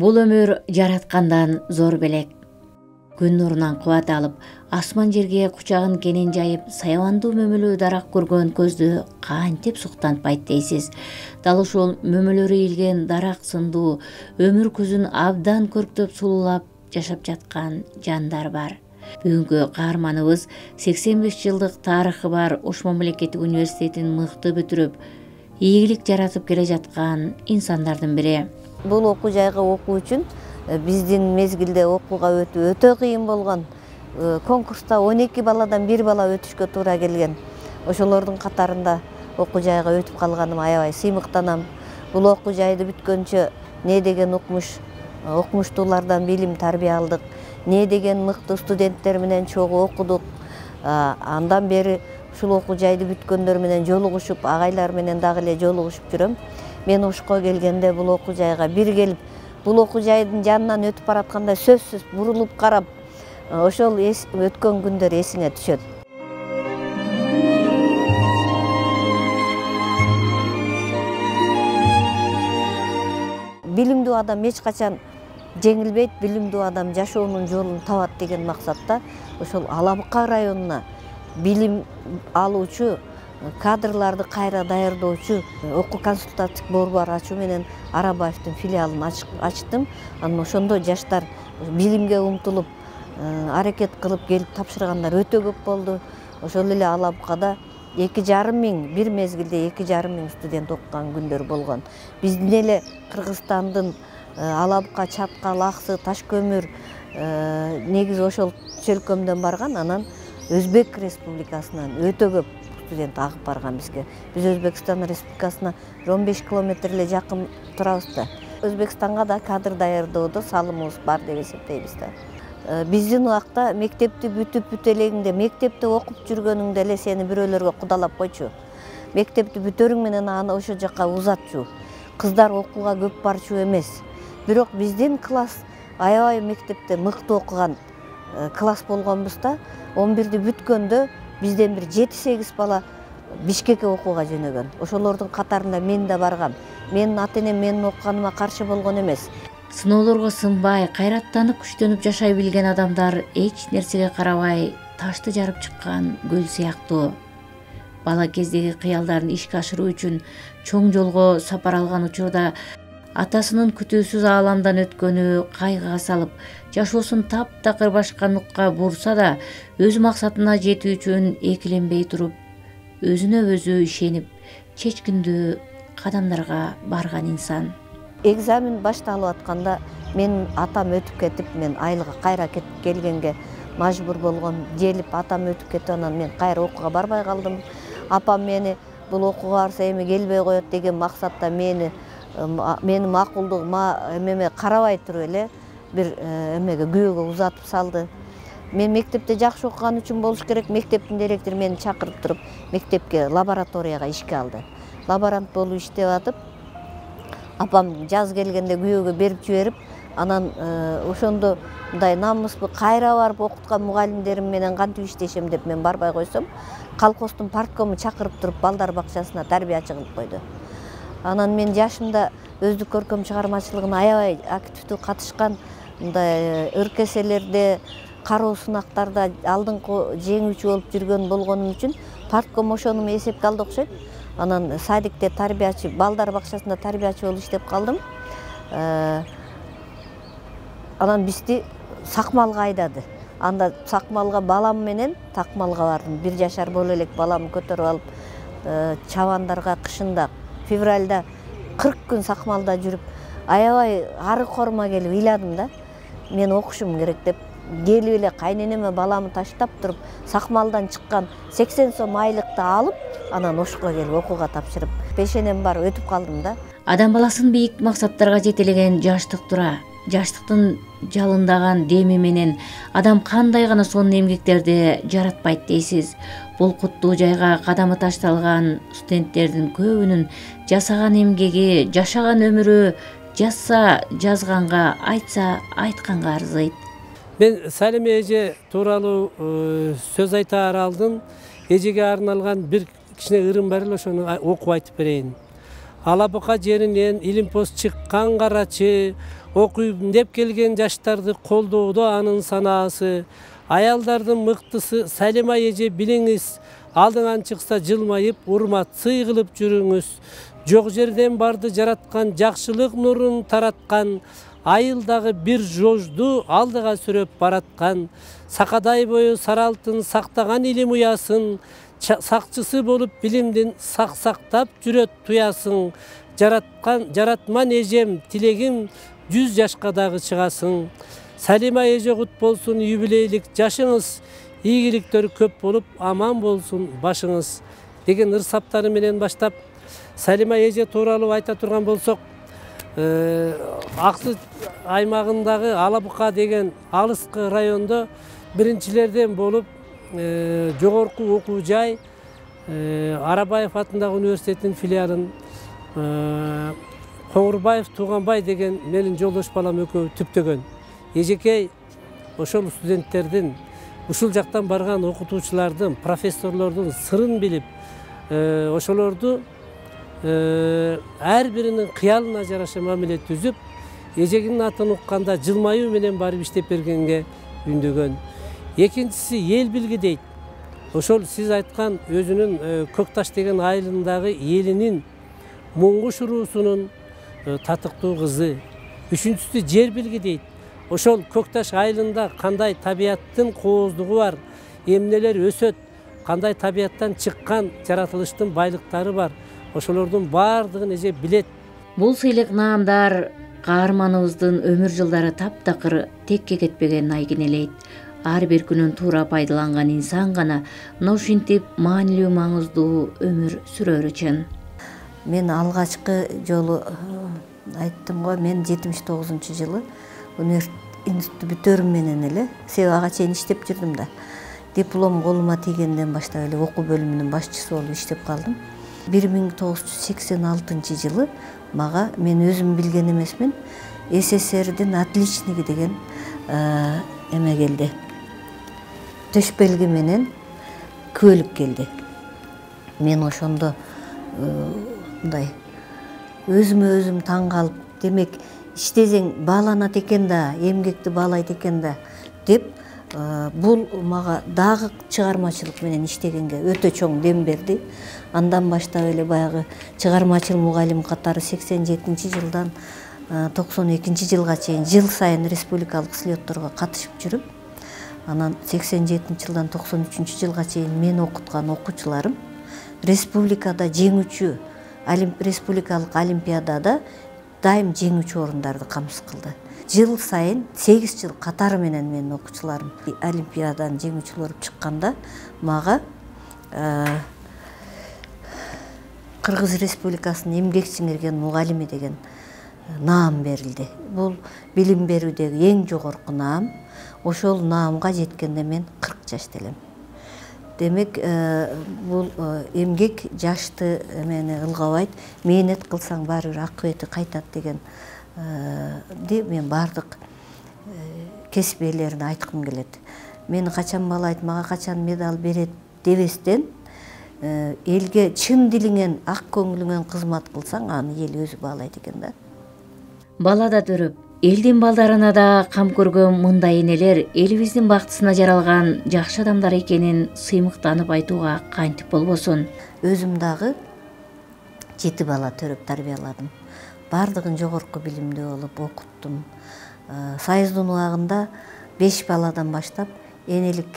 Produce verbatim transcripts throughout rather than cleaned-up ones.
Бул өмүр жараткандан зор белек. Күн нурунан кубат алып, асман жерге кучагын кенен жайып, саябандуу мөмөлүү дарак көргөн көздү кантип суктантпайт дейсиз. Дал ушул мөмөлөрү ийилген дарак сындуу өмүр көзүн абдан көрктөп сулуулап жашап жаткан жандар бар. Бүгүнкү каарманыбыз сексен беш жылдык тарыхы бар Ош мамлекеттик университетин мыкты бүтүрүп, ийгилик жаратып келе жаткан инсандардын бири. Бул окуу жайга окуу үчүн биздин мезгилде окууга өтүү өтө кыйын болгон. Конкурста он эки баладан бир бала өтүшкө туура келген. Ошолордун катарында окуу жайга өтүп калганым аябай сыймыктанам. Бул окуу жайды бүткөнчө не деген укмуш, окумуштуулардан билим тарбия алдык, не деген мыкты студенттер менен чогуу окудук. Андан бери ушул окуу жайды бүткөндөр менен жолугушуп, агайлар менен дагы эле жолугушуп жүрөм. Мен Ошко келгенде бул окуу жайга бир келип, бул окуу жайдын жанынан өтүп баратканда сөзсүз бурулуп карап, ошол өткөн күндөр эсиңе түшөт. Билимдүү адам эч качан жеңилбейт, билимдүү адам жашоонун жолун табат деген максатта ошол Ала Бука районуна билим алуучу кадрларды кайра даярдоочу окуу консультативдик борбор ачуу менен Арабаевдин филиалын ачтым. Анан ошондо жаштар билимге умтулуп, аракет кылып келип тапшыргандар өтө көп болду. Ошол эле Ала Букада эки жарым миң, бир мезгилде эки жарым миң студент окуган күндөр болгон. Биздин эле Кыргызстандын Ала Бука, Чаткал, Аксы, Таш көмүр негизи ошол чөлкөмдөн барган. Анан Өзбек Республикасынан өтө көп студент агып барган бизге. Биз Өзбекстан Республикасына он беш километр эле жакын турабыз да. Өзбекстанга да кадр даярдоодо салымыбыз бар деп эсептейбиз да. Биздин убакта мектепти бүтүп бүт элегиңде, мектепте окуп жүргөнүңдө эле сени бирөөлөргө кудалап койчу. Мектепти бүтөрүң менен аны ошол жака узатчу. Кыздар окууга көп барчу эмес. Бирок биздин класс аябай мектепте мыкты окуган класс болгонбуз да. он бирди бүткөндө бизден бир жети сегиз бала Бишкекке окууга жөнөгөн. Ошолордун катарында мен да баргам. Менин ата-энем менин окуганыма каршы болгон эмес. Сыноолорго сынбай, кайраттанып, күчтөнүп жашай билген адамдар эч нерсеге карабай ташты жарып чыккан көл сыяктуу. Бала кездеги кыялдарын ишке ашыруу үчүн чоң жолго сапар алган учурда атасынын күтүүсүз ааламдан өткөнү кайгыга салып, жашоосун таптакыр башка нукка бурса да, өз максатына жетүү үчүн экиленбей туруп, өзүнө өзү ишенип, чечкиндүү кадамдарга барган инсан. Экзамен башталып атканда менин атам өтүп кетип, мен айылга кайра кетип келгенге мажбур болгом. Желип атам өтүп кетип, анан мен кайра окууга барбай калдым. Апам мени бул окууга барса эми келбей коет деген максатта мени мени макулдугума эмеме карабай туруп эле бир эмеге күбөгө узатып салды. Мен мектепте жакшы окуган үчүн болуш керек, мектептин директору мени чакырып туруп мектепке лабораторияга ишке алды. Лаборант болуп иштеп атып, апам жаз келгенде күбөгө берип жиберип, анан ошондо мындай намыспы кайра барып окуткан мугалимдерим менен кантип иштешем деп мен барбай койсом, колхоздун парткому чакырып туруп балдар бакчасына тарбиячы кылып койду. Анан мен жашымда өздүк көркөм чыгармачылыгына аябай активдүү катышкан, мындай ыркеселерде, кароо сынактарда алдыңкы жеңүүчү болуп жүргөн болгонум үчүн партком ошону эсепке алды окшойт. Анан садикте тарбиячы, балдар бакчасында тарбиячы болуп иштеп калдым. Анан бизди Сакмалга айдады. Анда Сакмалга балам менен Такмалга бардым. Бир жашар боло элек баламды көтөрүп алып, чабандарга кышында февралда кырк күн Сакмалда жүрүп, аябай ары корма келип ыйладым да. Мен окушум керек деп келип эле кайненеме баламы таштап туруп, Сакмалдан чыккан сексен сом айлыкты алып, анан Ошко келип окууга тапшырып, пешенем бар өтүп калдым да. Адам баласын бийик максаттарга жетелеген жаштык тура. Жаштыктын жалындаган деми менен адам кандай гана сонун эмгектерди жаратпайт дейсиз. Бул куттуу жайга кадамы ташталган студенттердин көбүнүн жасаган эмгеги, жашаган өмүрү жазса жазганга, айтса айтканга арзыйт. Мен Салиме эже тууралуу сөз айтаар алдым. Эжеге арналган бир кичине ырым бар эле, ошону окуп айтып берейин. Ала Бука жеринен илимпоз чыккан карачы, окуйм деп келген жаштарды колдоодо анын санаасы. Аялдардын мыктысы Салима эже билиңиз, алдыңан чыкса жылмайып, урмат сый кылып жүрүңүз. Жок жерден барды жараткан, жакшылык нурун тараткан, айылдагы бир жожду алдыга сүрөп бараткан. Сакадай бою сары алтын сактаган илим уясын, сакчысы болуп билимдин сак-сактап жүрөт туясын. Жараткан жаратман эжем, тилегим жүз жашка дагы чыгасың. Салима эже кут болсун юбилейлик жашыңыз, ийгиликтер көп болуп, аман болсун башыңыз деген ыр саптары менен баштап, Салима эже тууралуу айта турган болсок, Аксы аймагындагы Ала Бука деген алыскы райондо биринчилерден болуп, жогорку окуу жай Арабаев атындагы университеттин филиалын Коңурбаев Тууганбай деген менин жолдош балам экөө түптөгөн. Эжекей ошол студенттердин, ушул жактан барган окутуучулардын, профессорлордун сырын билип, ошолорду ар биринин кыялына жараша мамиле түзүп, эжегинин атын укканда жылмаюу менен барып иштеп бергенге үндөгөн. Экинчиси эл билги дейт. Ошол сиз айткан өзүнүн Көкташ деген айылындагы элинин Муңгуш уруусунун татыктуу кызы. Үчүнчүсү жер билги дейт. Ошол Көкташ айылында кандай табияттын кооздугу бар, эмнелер өсөт, кандай табияттан чыккан жаратылыштын байлыктары бар. Ошолордун баардыгын эже билет. Бул сыйлык наамдар каарманыбыздын өмүр жылдары таптакыр текке кетпегенин айгинелейт. Ар бир күнүн туура пайдаланган инсан гана мына ушинтип маанилүү маңыздуу өмүр сүрөр үчүн. Мен алгачкы жолу айттым го, мен жетимиш тогузунчу жылы институтты бүтөрүм менен эле Себага чейин иштеп жүрдүм да. Диплом колума тийгенден баштап эле окуу бөлүмүнүн башчысы болуп иштеп калдым. бир миң тогуз жүз сексен алтынчы жылы мага, мен өзүм билген эмесмин, СССРдин отличники деген эме келди. Төш белги менен күбөлүк келди. Мен ошондо мындай өзүмө өзүм таң калып, демек иштесең бааланат экен да, эмгекти баалайт экен да деп, бул мага дагы чыгармачылык менен иштегенге өтө чоң дем берди. Андан баштап эле баягы чыгармачыл мугалим катары сексен жетинчи жылдан токсон экинчи жылга чейин жыл сайын республикалык слетторго катышып жүрүп, анан сексен жетинчи жылдан токсон үчүнчү жылга чейин мен окуткан окуучуларым республикада жеңүүчү, республикалык олимпиадада дайым жеңүүчү орундарды камсыз кылды. Жыл сайын сегиз жыл катары менен менин окуучуларым олимпиаданын жеңүүчүсү болуп чыкканда мага Кыргыз Республикасынын эмгек сиңирген мугалими деген наам берилди. Бул билим берүүдөгү эң жогорку наам. Ошол наамга жеткенде мен кырк жашта элем. Демек, бул эмгек жашты эмени ылгабайт, мээнет кылсаң баары бир акыбети кайтат деген мен баардык кесип ээлерине айткым келет. Мени качан баалайт, мага качан медаль берет дебестен, элге чын дилиңен, ак көңүлүңөн кызмат кылсаң, аны эл өзү баалайт экен да. Бала да төрөп, элдин балдарына да кам көргөн мындай энелер элибиздин бактысына жаралган жакшы адамдар экенин сыймыктанып айтууга кантип болбосун. Өзүм дагы жети бала төрөп тарбияладым. Бардыгын жогорку билимдүү болуп окуттум. Союздун убагында беш баладан баштап энелик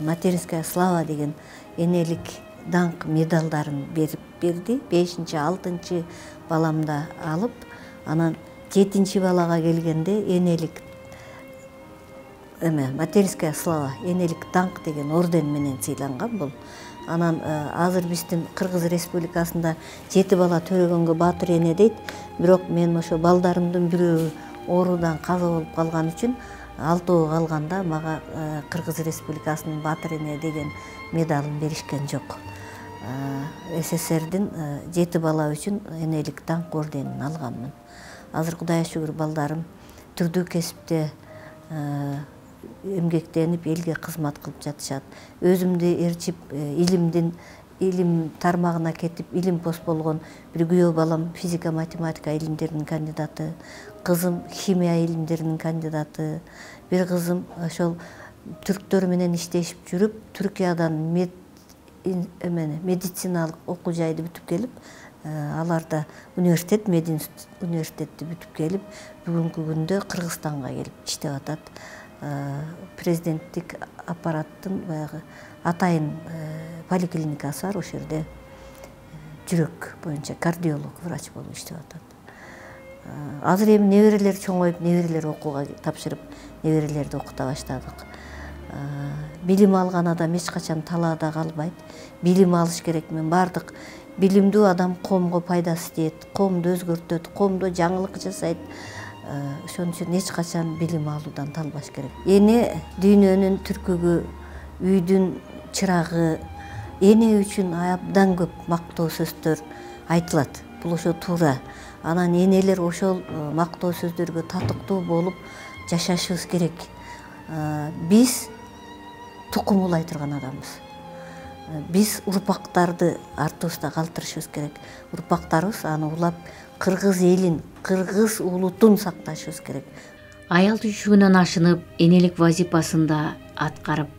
материнская слава деген энелик даңк медалдарын берип берди. бешинчи алтынчы баламда алып, анан жетинчи балага келгенде энелик эме материнская слава, энелик даңк деген орден менен сыйланган бул. Анан азыр биздин Кыргыз Республикасында жети бала төрөгөнгө баатыр эне дейт. Бирок мен ошо балдарымдын бирөө оорудан каза болуп калган үчүн алтоо калганда мага Кыргыз Республикасынын баатыр эне деген медалын беришкен жок. СССРдин жети бала үчүн энелик даңк орденин алганмын. Азыр Кудайга шүгүр балдарым түрдүү кесипте эмгектенип элге кызмат кылып жатышат. Өзүмдү ээрчип илимдин илим тармагына кетип илим пост болгон бир күйөө балам физика математика илимдеринин кандидаты, кызым химия илимдеринин кандидаты, бир кызым ошол түрктөр менен иштешип жүрүп Түркиядан мед эмени медициналык окуу жайды бүтүп келип, аларда университет мединститут университетти бүтүп келип, бүгүнкү күндө Кыргызстанга келип иштеп атат. Президенттик аппараттын баягы атайын поликлиникасы бар, ошол жерде жүрөк боюнча кардиолог врач болуп иштеп атат. Азыр эми неберелер чоңоюп, неберелер окууга тапшырып, неберелерди окута баштадык. Билим алган адам эч качан талаада калбайт. Билим алыш керек. Мен бардык билимдүү адам коомго пайдасы тиет, коомду өзгөртөт, коомдо жаңылык жасайт. Ошон үчүн эч качан билим алуудан талбаш керек. Эне дүйнөнүн түркүгү, үйдүн чырагы, эне үчүн абдан көп мактоо сөздөр айтылат. Бул ошо туура. Анан энелер ошол мактоо сөздөргө татыктуу болуп жашашыбыз керек. Биз тукум улай турган адамбыз. Биз урпактарды артыбызда калтырышыбыз керек. Урпактарыбыз аны улап кыргыз элин, кыргыз улутун сакташыбыз керек. Аял түйшүгүнөн ашынып, энелик вазипасында аткарып,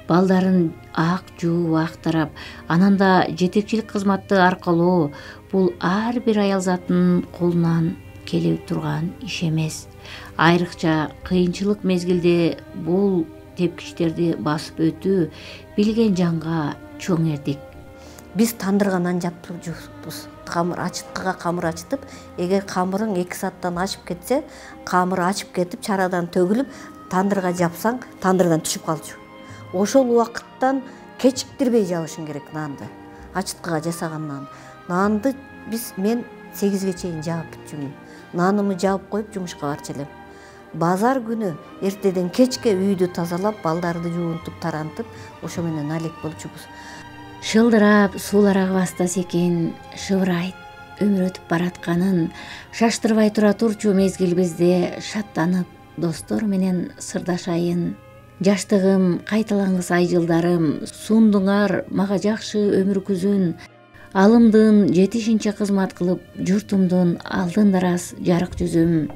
балдарын ак жууп, актарап, анан да жетекчилик кызматты аркалоо бул ар бир аял затынын колунан келе турган иш эмес. Айрыкча кыйынчылык мезгилде бул тепкичтерди басып өтүү билген жанга чоң эрдик. Биз тандырганан жаптып жукпуз. Камыр ачыткыга камыр ачытып, эгер камырың эки сааттан ашып кетсе, камыр ачып кетип, чарадан төгүлүп, тандырга жапсаң, тандырдан түшүп калчу. Ошол убакыттан кечиктирбей жабышың керек нанды. Ачыткыга жасаган нан. Нанды биз мен сегизге чейин жаап бүтчүмүн. Нанымы жаап коюп жумушка барчу элем. Базар күнү эртеден кечке үйдү тазалап, балдарды жуунтуп, тарантып, ошо менен алек болчубуз. Шылдырап, суулар агыбастас экен, шыбырайт, өмүр өтүп баратканын шаштырбай тура турчу мезгилибизде шаттанып, достор менен сырдашайын. Жаштыгым, кайталангыс ай жылдарым, сундуңар мага жакшы өмүр күзүн. Алымдын жетишинче кызмат кылып, журтумдун алдында раз жарык жүзүм.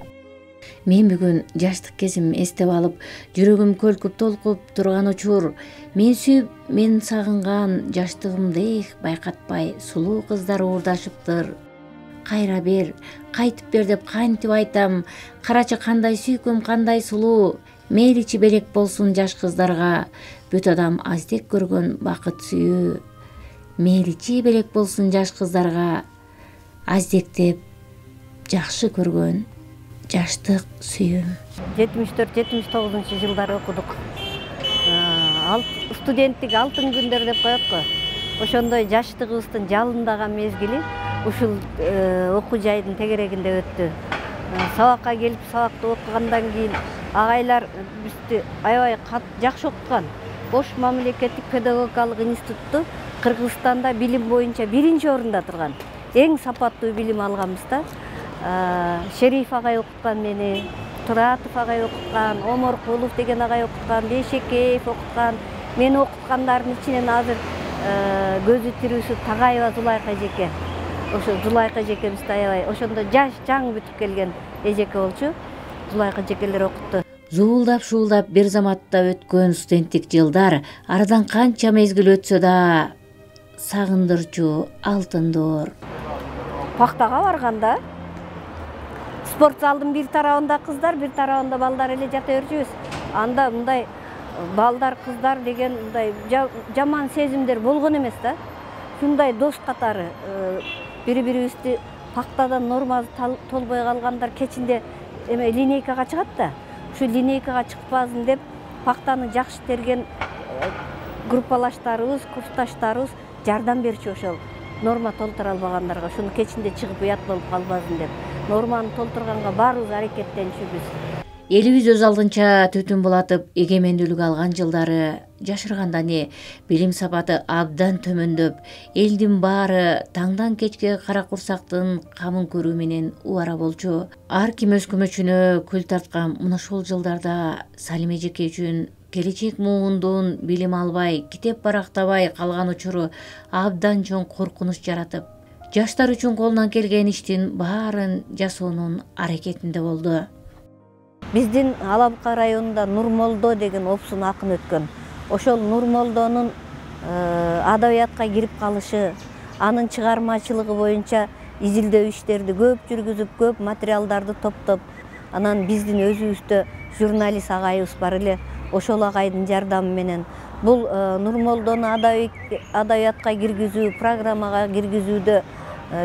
Мен бүгүн жаштык кезим эстеп алып, жүрөгүм көлкүп толкуп турган учур. Мен сүйүп, мен сагынган жаштыгымды ээх байкатпай, сулуу кыздар уурдашыптыр. Кайра бер, кайтып бер деп кантип айтам. Карачы кандай сүйкүм, кандай сулуу. Мейличи белек болсун жаш кыздарга, бүт адам аздек көргөн бакыт сүйүү. Мейличи белек болсун жаш кыздарга, аздектеп жакшы көргөн жаштык сүйүүм. жетимиш төрт жетимиш тогузунчу жылдары окудук. Студенттик алтын күндөр деп коет го. Ошондой жаштыгыбыздын жалындаган мезгили ушул окуу жайдын тегерегинде өттү. Сабакка келип, сабакты окугандан кийин агайлар бизди аябай жакшы окуткан. Ош мамлекеттик педагогикалык институтту Кыргызстанда билим боюнча биринчи орунда турган. Эң сапаттуу билим алганбыз да. Шериф агай окуткан мени, Туратов агай окуткан, Оморкулов деген агай окуткан, Бейшекеев окуткан. Мени окуткандардын ичинен азыр көзү тирүүсү Тагаева Зулайка эжеке. Ошо Зулайка эжекебизди аябай ошондо жаш жаңы бүтүп келген эжеке болчу. Зулайка эжекелер окутту. Зуулдап шуулдап бир заматта өткөн студенттик жылдар арадан канча мезгил өтсө да сагындырчу алтындор. Пактага барганда спорт залдын бир тарабында кыздар, бир тарабында балдар эле жата берчүбүз. Анда мындай балдар, кыздар деген мындай жаман сезимдер болгон эмес да. Шундай дос катары бири-бирибизди пактадан нормасы толбой калгандар кечинде эме линейкага чыгат да. Ушу линейкага чыкпасын деп пактаны жакшы терген группалаштарыбыз, курсташтарыбыз жардам берчү ошол норма толтура албагандарга. Шуну кечинде чыгып уят болуп калбасын деп норманы толтурганга баарыбыз аракеттенишибиз. Элибиз өз алдынча түтүн булатып эгемендүүлүк алган жылдары жашырганда не билим сапаты абдан төмөндөп, элдин баары таңдан кечке кара курсактын камын көрүү менен убара болчу. Ар ким өз көмөчүнө күл тарткан мына ушул жылдарда Салим эжеке үчүн келечек муунduğун билим албай, китеп барактабай калган учуру абдан чоң коркунуч жаратып, жаштар үчүн колунан келген иштин баарын жасоонун аракетинде болду. Биздин Алабука районунда Нурмолдо деген опсун акын өткөн. Ошол Нурмолдонун адабиятка кирип калышы, анын чыгармачылыгы боюнча изилдөө иштерди көп жүргүзүп, көп материалдарды топтоп, анан биздин өзүбүздө журналист агайыбыз бар эле, ошол агайдын жардамы менен бул Нурмолдону адабиятка киргизүү, программага киргизүүдө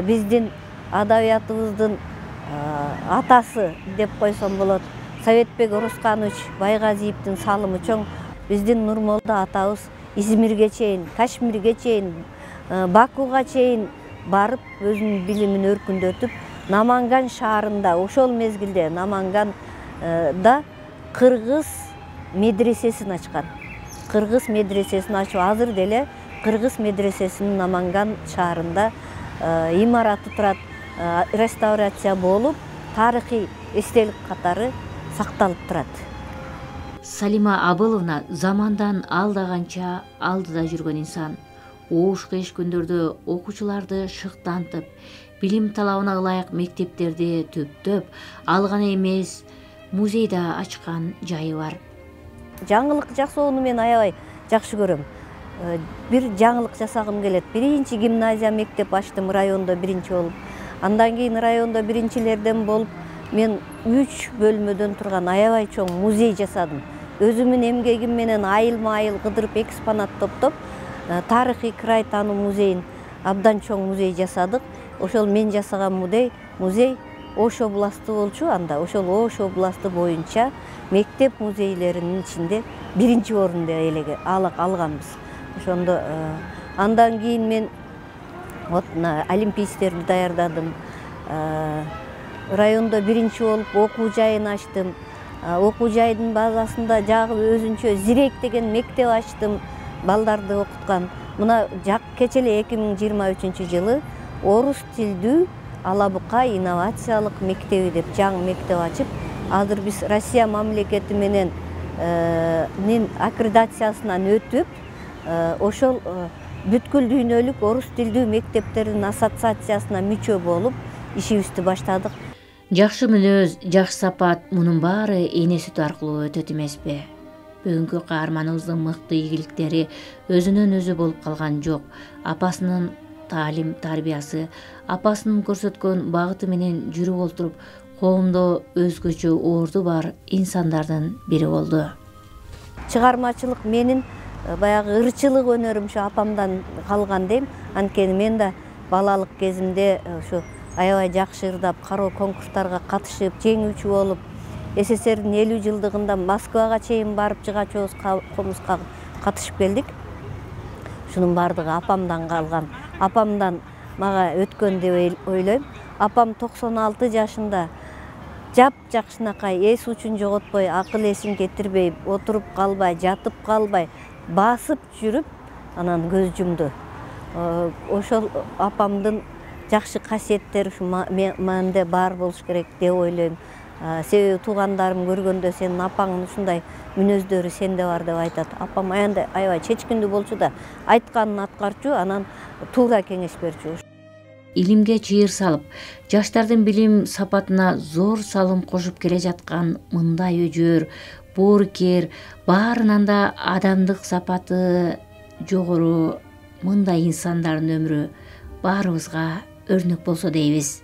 биздин адабиятыбыздын атасы деп койсом болот, Советбек Орусканович Байгазиевдин салымы чоң. Биздин Нурмолдо атабыз Измирге чейин, Кашмирге чейин, Бакуга чейин барып, өзүнүн билимин өркүндөтүп, Наманган шаарында, ошол мезгилде Наманганда кыргыз медресесин ачкан. Кыргыз медресесин ачып, азыр деле кыргыз медресесинин Наманган шаарында имараты турат, реставрация болуп, тарыхый эстелик катары сакталып турат. Салима Абыловна замандан алдаганча алдыда жүргөн инсан. Оош кыйыш күндөрдө окуучуларды шыктантып, билим талабына ылайык мектептерди төптөп, ал гана эмес, музей да ачкан жайы бар. Жаңылык жасоону мен аябай жакшы көрөм. Бир жаңылык жасагым келет. Биринчи гимназия мектеп ачтым райондо биринчи болуп. Андан кийин райондо биринчилерден болуп, мен үч бөлмөдөн турган аябай чоң музей жасадым. Өзүмүн эмгегим менен айылма-айыл кыдырып экспонат топтоп, тарыхый край таануу музейин абдан чоң музей жасадык. Ошол мен жасаган музей, музей Ош областы болчу анда. Ошол Ош областы боюнча мектеп музейлеринин ичинде биринчи орунду элеге алганбыз. Ошондо андан кийин мен вот олимпийцтерди даярдадым. Райондо биринчи болуп окуу жайын ачтым. Окуу жайдын базасында жагы өзүнчө Зирек деген мектеп ачтым, балдарды окуткан. Мына жак кече эле эки миң жыйырма үчүнчү жылы орус тилдүү Алабука инновациялык мектеби деп жаңы мектеп ачып, азыр биз Россия мамлекети менен аккредитациясынан өтүп, ошол бүткүл дүйнөлүк орус тилдүү мектептердин ассоциациясына мүчө болуп, ишибизди баштадык. Жакшы мүнөз, жакшы сапат мунун баары эне сүтү аркылуу өтөт эмеспи? Бүгүнкү каарманыбыздын мыкты ийгиликтери өзүнөн өзү болуп калган жок. Апасынын таалим тарбиясы, апасынын көрсөткөн багыты менен жүрүп олтуруп, коомдо өзгөчө орду бар инсандардын бири болду. Чыгармачылык менин баягы ырчылык өнөрүм ушу апамдан калган дейм. Анткени мен да балалык кезимде ушу аябай жакшы ырдап, кароо конкурстарга катышып, жеңүүчү болуп, СССРдин элүү жылдыгында Москвага чейин барып жыгачыбыз комузга катышып келдик. Шунун баардыгы апамдан калган. Апамдан мага өткөн деп ойлойм. Апам токсон алты жашында жап жакшынакай, эс учун жоготпой, акыл эсин кетирбей, отуруп калбай, жатып калбай, басып жүрүп, анан көз жумду. Ошол апамдын жакшы касиеттери ушу менде бар болуш керек деп ойлойм. Себеби туугандарым көргөндө сенин апаңдын ушундай мүнөздөрү сенде бар деп айтат. Апам аяндай аябай чечкиндүү болчу да, айтканын аткарчу, анан туура кеңеш берчү. Илимге чыйыр салып, жаштардын билим сапатына зор салым кошуп келе жаткан мындай өжөр, боорукер, баарынан да адамдык сапаты жогору мындай инсандардын өмүрү баарыбызга өрнөк болсо дейбиз.